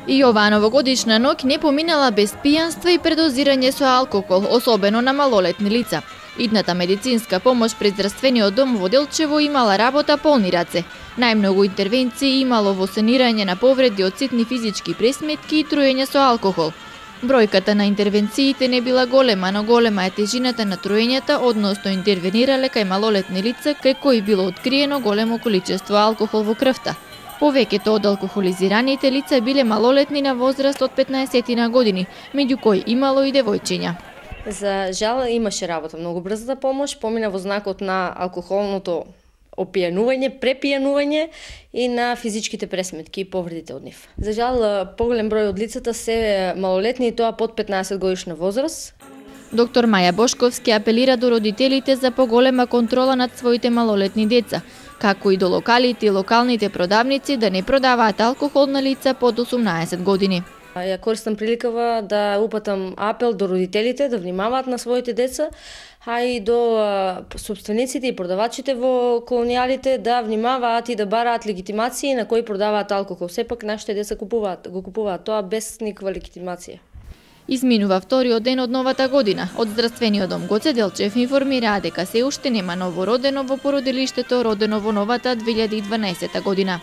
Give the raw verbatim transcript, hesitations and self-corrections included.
И оваа новогодишна ноќ не поминала без пијанство и предозирање со алкохол, особено на малолетни лица. Идната медицинска помош пред здравствениот дом во Делчево имала работа полни раце. Најмногу интервенции имало во санирање на повреди од ситни физички пресметки и труење со алкохол. Бројката на интервенциите не била голема, но голема е тежината на труењата, односно интервенирале кај малолетни лица кај кои било откриено големо количество алкохол во крвта. Повеќето од алкохолизираните лица биле малолетни на возраст од петнаесет години, меѓу кои имало и девојчиња. За жал имаше работа, многу брзата помош помина во знакот на алкохолното опијанување, препијанување и на физичките пресметки и повредите од нив. За жал, поголем број од лицата се малолетни и тоа под петнаесет годишна возраст. Доктор Маја Бошковски апелира до родителите за поголема контрола над своите малолетни деца, како и до локалите и локалните продавници да не продаваат алкохол на лица под осумнаесет години. Ја користам приликава да упатам апел до родителите да внимаваат на своите деца, а и до собствениците и продавачите во колонијалите да внимаваат и да бараат легитимации на кои продаваат алкохол. Сепак нашите деца купуваат, го купуваат тоа без никаква легитимација. Изминува вториот ден од новата година. Од здравствениот дом Гоце Делчев информираа дека се уште нема новородено во породилиштето родено во новата две илјади и дванаесета година.